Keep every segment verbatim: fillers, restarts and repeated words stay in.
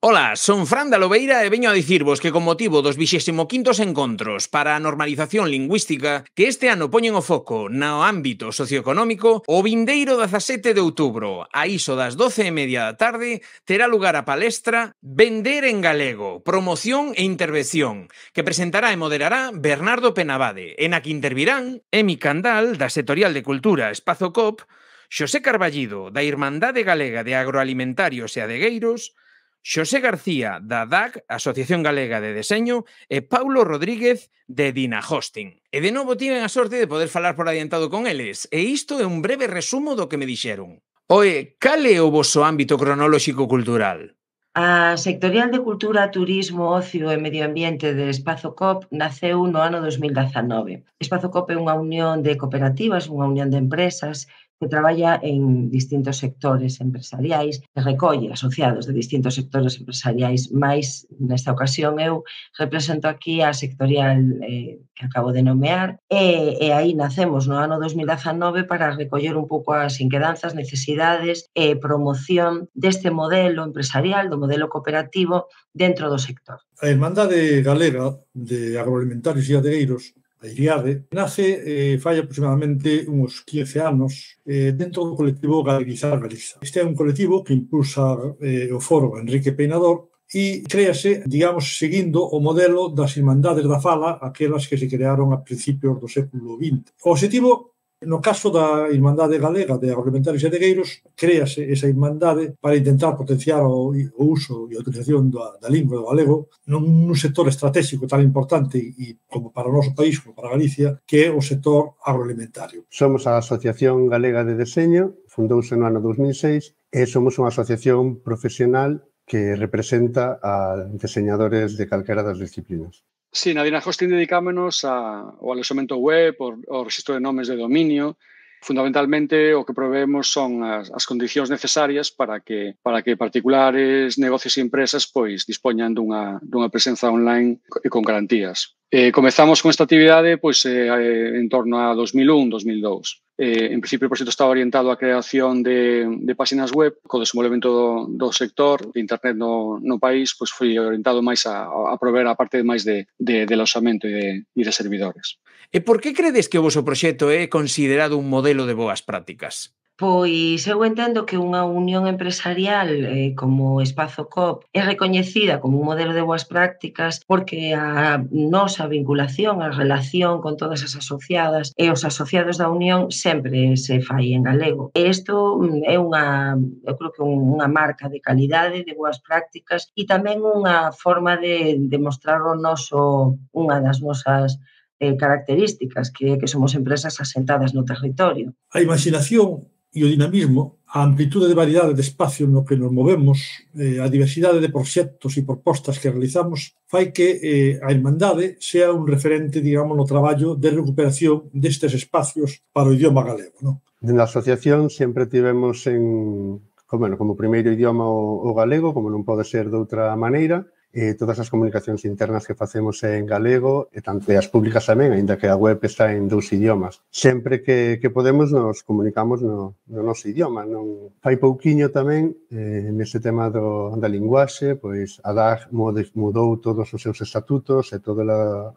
Ola, son Fran da Lobeira e veño a dicirvos que con motivo dos vixésimo quintos encontros para a normalización lingüística que este ano poñen o foco no ámbito socioeconómico, o vindeiro dezasete de outubro, a iso das doce e media da tarde, terá lugar a palestra Vender en Galego, promoción e intervención, que presentará e moderará Bernardo Penabade, e na que intervirán Emi Candal, da Sectorial de Cultura Espazo Coop, Xosé Carballido, da Irmandade Galega de Agroalimentarios e Adegueiros, Xosé García, da D A C, Asociación Galega de Deseño, e Paulo Rodríguez, de Dina Hosting. E de novo tiven a sorte de poder falar por adiantado con eles, e isto é un breve resumo do que me dixeron. Oe, cal é o voso ámbito cronolóxico cultural? A Sectorial de Cultura, Turismo, Ocio e Medio Ambiente de Espazo Coop naceu no ano dos mil dezanove. Espazo Coop é unha unión de cooperativas, unha unión de empresas que traballa en distintos sectores empresariais e recolle asociados de distintos sectores empresariais, mais nesta ocasión eu represento aquí a sectorial eh, que acabo de nomear e, e aí nacemos no ano dos mil dezanove para recoller un pouco as inquedanzas, necesidades e promoción deste modelo empresarial, do modelo cooperativo dentro do sector. A Irmandade Galega de Agroalimentarios e Adegueiros, a IRIADE, nace eh, fai aproximadamente uns quince anos eh, dentro do colectivo Galeguizar Galiza. Este é un colectivo que impulsa eh, o foro Enrique Peinador e créase, digamos, seguindo o modelo das Irmandades da Fala, aquelas que se crearon a principios do século vinte. O objetivo, no caso da Irmandade Galega de Agroalimentarios e Adegueiros, créase esa irmandade para intentar potenciar o, o uso e a utilización da, da lingua do galego nun, nun sector estratégico tan importante e como para o noso país, como para Galicia, que é o sector agroalimentario. Somos a Asociación Galega de Deseño, fundouse no ano dos mil seis, e somos unha asociación profesional que representa a deseñadores de calquera das disciplinas. Sí, na Dina Hosting dedicámonos ao alexamento web, ao registro de nomes de dominio. Fundamentalmente, o que proveemos son as, as condicións necesarias para que para que particulares, negocios e empresas pois dispoñan dunha, dunha presenza online e con garantías. Eh, comezamos con esta actividade pois, eh, en torno a dos mil un, dos mil dous. Eh, en principio, o proxecto estaba orientado á creación de, de páxinas web, co desenvolvemento do, do sector de internet no, no país, pois foi orientado máis a, a prover a parte máis de, de, de aloxamento e de, e de servidores. E por que credes que o voso proxecto é considerado un modelo de boas prácticas? Pois eu entendo que unha unión empresarial eh, como Espazo Coop é recoñecida como un modelo de boas prácticas porque a nosa vinculación, a relación con todas as asociadas e os asociados da unión sempre se fai en galego. E isto é unha, eu creo que unha marca de calidade, de boas prácticas e tamén unha forma de demostrar o noso, unha das nosas eh, características, que, que somos empresas asentadas no territorio. A imaginación e o dinamismo, a amplitude de variedade de espacio no que nos movemos, eh, a diversidade de proxectos e propostas que realizamos, fai que eh, a Irmandade sea un referente, digamos, no traballo de recuperación destes espacios para o idioma galego, non? Na asociación sempre tivemos en, como, bueno, como primeiro idioma o, o galego, como non pode ser de outra maneira, e todas as comunicacións internas que facemos é en galego e tanto as públicas tamén, aínda que a web está en dous idiomas. Sempre que, que podemos nos comunicamos no, no noso idioma. Non fai pouquiño tamén, eh, nese tema do, da linguaxe, pois a D A C mudou todos os seus estatutos e todas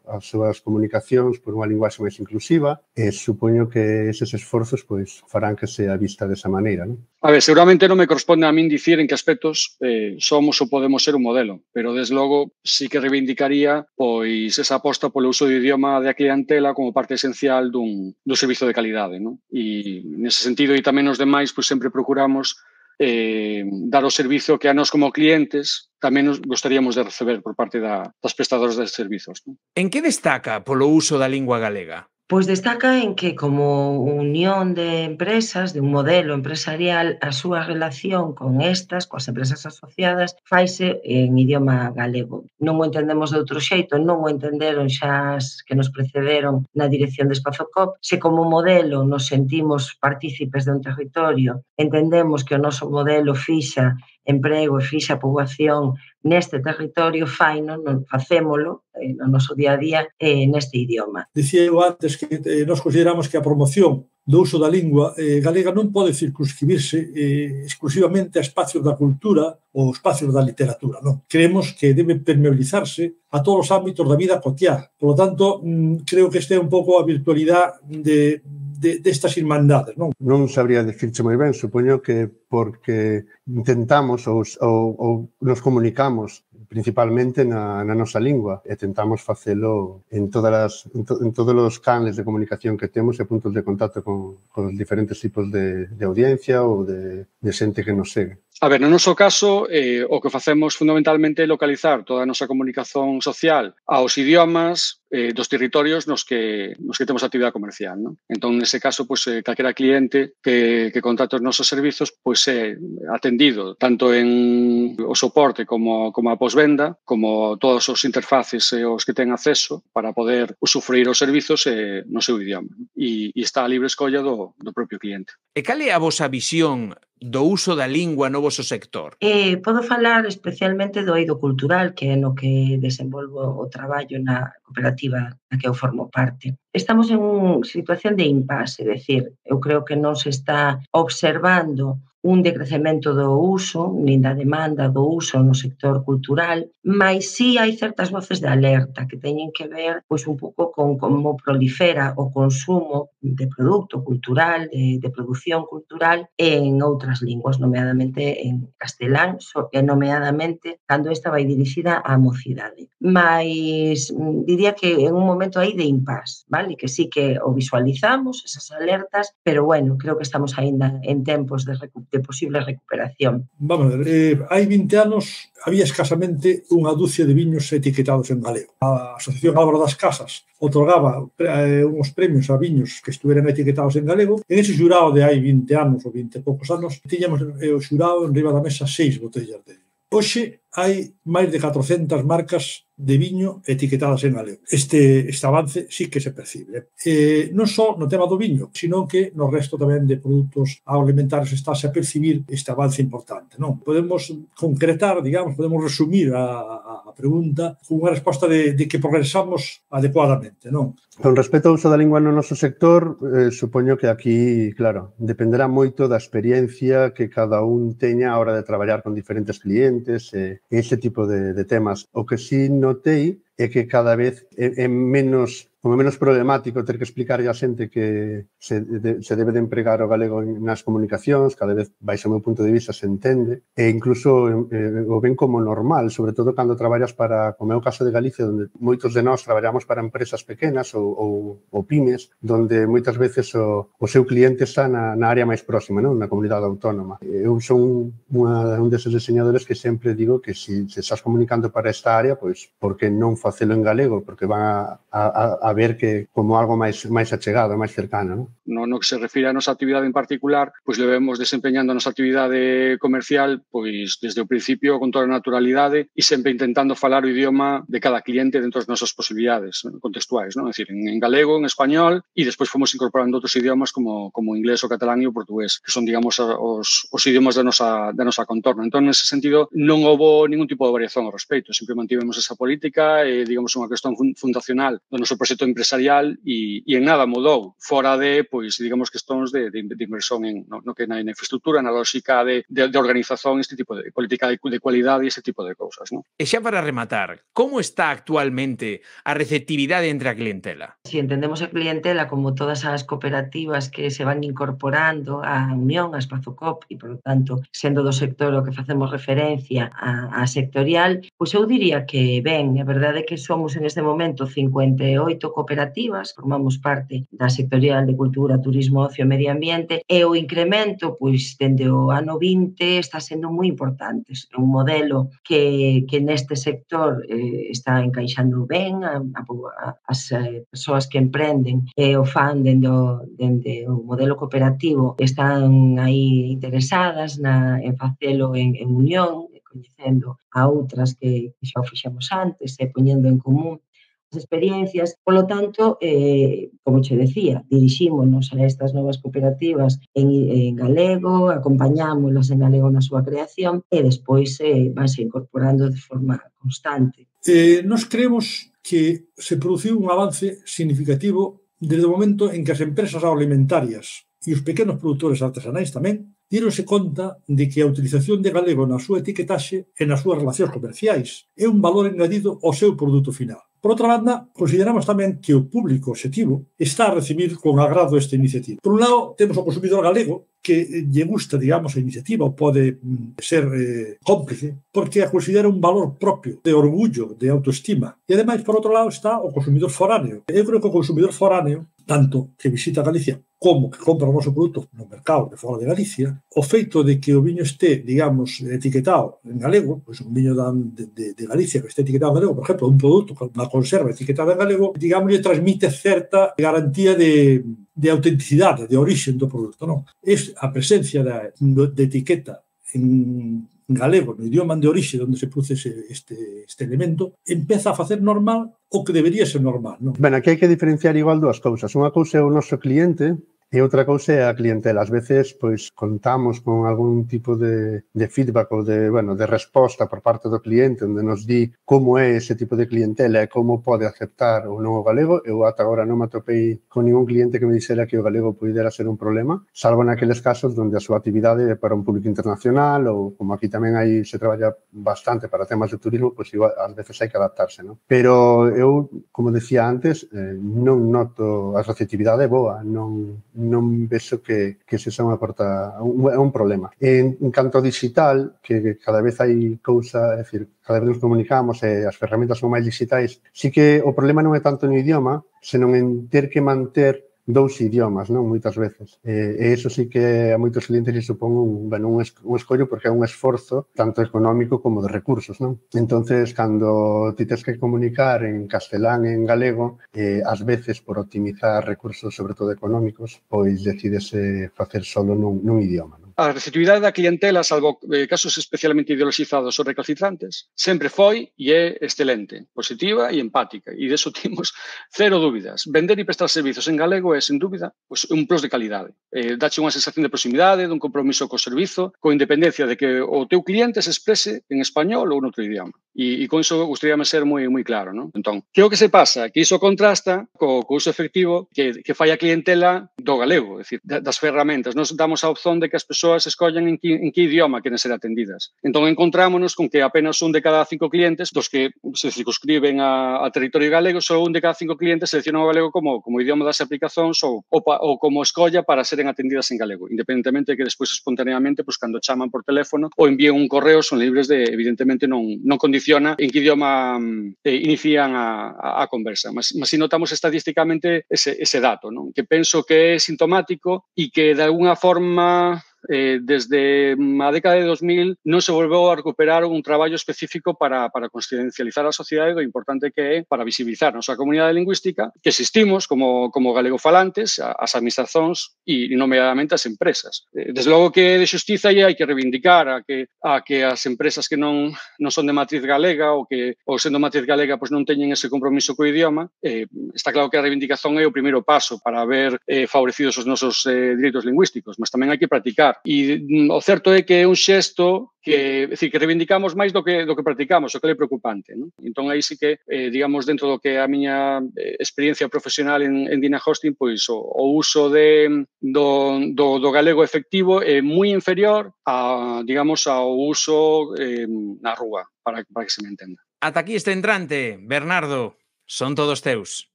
as súas comunicacións por unha linguaxe máis inclusiva e supoño que eses esforzos pois farán que sea vista desa maneira, non? A ver, seguramente non me corresponde a min dicir en que aspectos eh, somos ou podemos ser un modelo, pero desde logo sí que reivindicaría pois esa aposta polo uso do idioma da clientela como parte esencial dun, dun servizo de calidade, non? E nese sentido e tamén os demais pois sempre procuramos eh, dar o servizo que a nós como clientes tamén nos gostaríamos de receber por parte da, das prestadoras de servizos, non? En que destaca polo uso da lingua galega? Pois destaca en que como unión de empresas, de un modelo empresarial, a súa relación con estas, coas empresas asociadas, faise en idioma galego. Non o entendemos de outro xeito, non o entenderon xa as que nos precederon na dirección de Espazo Coop. Se como modelo nos sentimos partícipes de un territorio, entendemos que o noso modelo fixa emprego e fixa poboación neste territorio, faino, non facémolo no noso día a día eh, neste idioma. Dicía eu antes que eh, nos consideramos que a promoción do uso da lingua eh, galega non pode circunscribirse eh, exclusivamente a espacios da cultura ou espacios da literatura, non? Creemos que debe permeabilizarse a todos os ámbitos da vida cotiá. Por lo tanto, mm, creo que este é un pouco a virtualidade de, de, destas irmandades, non? Non sabría dicirche moi ben, supoño que porque intentamos ou, ou, ou nos comunicamos principalmente na, na nosa lingua e tentamos facelo en, todas as, en, to, en todos os canles de comunicación que temos e puntos de contacto con, con os diferentes tipos de, de audiencia ou de, de xente que nos segue. A ver, no noso caso, eh, o que facemos fundamentalmente é localizar toda a nosa comunicación social aos idiomas eh, dos territorios nos que, nos que temos actividade comercial, non? Entón, nese caso, pues, eh, calquera cliente que, que contrate os nosos servizos, pues, é atendido tanto en o soporte como, como a posvenda, como todos os interfaces e os que ten acceso para poder usufruir os servizos eh, no seu idioma. E, e está a libre escolla do, do propio cliente. E cal é a vosa visión do uso da lingua no voso sector? Eh, podo falar especialmente do eido cultural, que é no que desenvolvo o traballo na cooperativa na que eu formo parte. Estamos en unha situación de impasse, é dicir, eu creo que non se está observando un decrecemento do uso, nin da demanda do uso no sector cultural, mas sí hai certas voces de alerta que teñen que ver pois, un pouco con como prolifera o consumo de produto cultural, de, de produción cultural en outras linguas, nomeadamente en castelán, e nomeadamente cando esta vai dirixida á mocidade. Mas diría que en un momento aí de impasse, vale? Que sí que o visualizamos, esas alertas, pero bueno, creo que estamos aínda en tempos de recuperación de posible recuperación. Vamos a ver, eh, hai vinte anos había escasamente unha dúcia de viños etiquetados en galego. A Asociación Álvaro das Casas otorgaba eh, uns premios a viños que estuveran etiquetados en galego. En ese xurado de hai vinte anos ou vinte e poucos anos, tiñamos eh, o xurado en riba da mesa seis botellas de viño. Hoxe hai máis de catrocentas marcas de viño etiquetadas en galego. Este, este avance sí que se percibe. Eh, non só no tema do viño, sino que no resto tamén de produtos agroalimentarios estáse a percibir este avance importante, non? Podemos concretar, digamos, podemos resumir a, a pregunta con unha resposta de, de que progresamos adecuadamente, non? Con respecto ao uso da lingua no noso sector, eh, supoño que aquí, claro, dependerá moito da experiencia que cada un teña a hora de traballar con diferentes clientes e eh, ese tipo de, de temas. O que sí notei é que cada vez é, é menos como menos problemático ter que explicar a xente que se, de, se debe de empregar o galego nas comunicacións, cada vez, baixo o meu punto de vista, se entende, e incluso eh, o ven como normal, sobre todo cando traballas para, como é o caso de Galicia, onde moitos de nós traballamos para empresas pequenas ou, ou, ou pymes, donde moitas veces o, o seu cliente está na, na área máis próxima, non? Na comunidade autónoma. Eu son unha, un deses diseñadores que sempre digo que se si, se estás comunicando para esta área, pois, porque non facelo en galego? Porque van a, a, a ver que como algo máis máis achegado, máis cercano, non? No, no que se refire a nosa actividade en particular, pois levemos desempeñando a nosa actividade comercial pois desde o principio con toda a naturalidade e sempre intentando falar o idioma de cada cliente dentro das nosas posibilidades, ¿no? Contextuais, non? É dicir, en, en galego, en español e despois fomos incorporando outros idiomas como como o inglés, o catalán e o portugués, que son, digamos, os, os idiomas da nosa, da nosa contorno. Entón, nese sentido, non houve ningún tipo de variación ao respecto, sempre mantivemos esa política e, digamos, unha cuestión fundacional do noso proxecto empresarial e, e en nada mudou, fora de, pois, digamos, questões de, de, de inversión en, no, no que na, na infraestructura, na lógica de, de, de organización, este tipo de política de, de cualidade e ese tipo de cousas, non? E xa para rematar, como está actualmente a receptividade entre a clientela? Si entendemos a clientela como todas as cooperativas que se van incorporando á Unión, a Espazo Coop, e, por lo tanto, sendo do sector o que facemos referencia a, a sectorial, pois eu diría que ben, a verdade é que somos en este momento cincuenta e oito cooperativas, formamos parte da sectorial de Cultura, Turismo, Ocio e Medio Ambiente, e o incremento, pois, dende o ano vinte está sendo moi importante. É un modelo que, que neste sector eh, está encaixando ben, a, a, as eh, persoas que emprenden e eh, o fan dende o, dende o modelo cooperativo están aí interesadas na, en facelo en, en unión, coñecendo a outras que, que xa o fixemos antes e poñendo en común as experiencias. Por lo tanto, eh, como che decía, dirixímonos a estas novas cooperativas en, en galego, acompañámolas en galego na súa creación e despois eh, vanse incorporando de forma constante. Eh, nos creemos que se produciu un avance significativo desde o momento en que as empresas agroalimentarias e os pequenos produtores artesanais tamén díronse conta de que a utilización de galego na súa etiquetaxe e nas súas relacións comerciais é un valor engadido ao seu produto final. Por outra banda, consideramos tamén que o público objetivo está a recibir con agrado esta iniciativa. Por un lado, temos o consumidor galego que lle gusta, digamos, a iniciativa ou pode ser eh, cómplice porque a considera un valor propio de orgullo, de autoestima. E, ademais, por outro lado, está o consumidor foráneo. Eu creo que o consumidor foráneo, tanto que visita Galicia como que compra o noso produto no mercado de fora de Galicia, o feito de que o viño este, digamos, etiquetado en galego, pois un viño de, de, de Galicia que este etiquetado en galego, por exemplo, un produto, unha conserva etiquetada en galego, digamos, lle transmite certa garantía de, de autenticidade, de origen do produto, non? Es a presencia da, de etiqueta en galego, no idioma de orixe onde se produce este, este elemento, empeza a facer normal o que debería ser normal, non? Ben, aquí hai que diferenciar igual dúas cousas. Unha cousa é o noso cliente e outra cousa é a clientela. Ás veces, pois, contamos con algún tipo de, de feedback ou de, bueno, de resposta por parte do cliente onde nos di como é ese tipo de clientela e como pode aceptar ou non o galego. Eu ata agora non me atopei con ningún cliente que me dixera que o galego pudera ser un problema, salvo naqueles casos onde a súa actividade é para un público internacional ou como aquí tamén aí se traballa bastante para temas de turismo, pois igual ás veces hai que adaptarse, non? Pero eu, como decía antes, eh, non noto a receptividade boa, non non vexo que, que se xa unha porta, un, é un problema. En, en canto ao digital, que cada vez hai cousa, é dicir, cada vez nos comunicamos e as ferramentas son máis digitais, sí que o problema non é tanto no idioma, senón en ter que manter dous idiomas, non? Moitas veces. E, e iso sí que a moitos clientes lhe supón un, bueno, un, es, un escollo porque é un esforzo tanto económico como de recursos, non? Entonces, cando ti tes que comunicar en castelán e en galego, eh, ás veces, por optimizar recursos, sobre todo económicos, pois decidese facer solo nun, nun idioma, non? A receptividade da clientela, salvo eh, casos especialmente ideoloxizados ou recalcitrantes, sempre foi e é excelente, positiva e empática. E deso temos cero dúbidas. Vender e prestar servizos en galego é, sen dúbida, pues, un plus de calidade. Eh, dache unha sensación de proximidade, dun compromiso co servizo, con independencia de que o teu cliente se exprese en español ou en outro idioma. E, e con iso gustaríame ser moi moi claro, non? Entón, que o que se pasa? Que iso contrasta co, co uso efectivo que, que fai a clientela do galego, é dicir, das ferramentas. Nos damos a opción de que as persoas escollan en que, en que idioma queren ser atendidas. Entón, encontrámonos con que apenas un de cada cinco clientes, dos que se circunscriben a, a territorio galego, só un de cada cinco clientes seleccionan o galego como, como idioma das aplicacións ou, ou, ou como escolla para seren atendidas en galego, independentemente de que despois espontaneamente, pues, cando chaman por teléfono ou envíen un correo, son libres de, evidentemente, non, non condiciona en que idioma eh, inician a, a, a conversa. Mas, mas si notamos estadísticamente ese, ese dato, non? Que penso que é sintomático e que de alguna forma eh, desde a década de dos mil non se volveu a recuperar un traballo específico para, para consciencializar a sociedade do importante que é para visibilizar a nosa comunidade lingüística, que existimos como, como galegofalantes, as administracións e, nomeadamente, as empresas. Desde logo que de xustiza hai que reivindicar a que, a que as empresas que non, non son de matriz galega ou que, ou sendo matriz galega, pues, non teñen ese compromiso co idioma. Eh, está claro que a reivindicación é o primeiro paso para ver eh, favorecidos os nosos eh, direitos lingüísticos, mas tamén hai que practicar. E o certo é que é un xesto que, é dicir, que reivindicamos máis do que, do que practicamos, o que é preocupante, non? Entón, aí sí que, eh, digamos, dentro do que é a miña experiencia profesional en, en Dina Hosting, pois o, o uso de, do, do, do galego efectivo é moi inferior a, digamos, ao uso eh, na rúa, para, para que se me entenda. Ata aquí este entrante, Bernardo, son todos teus.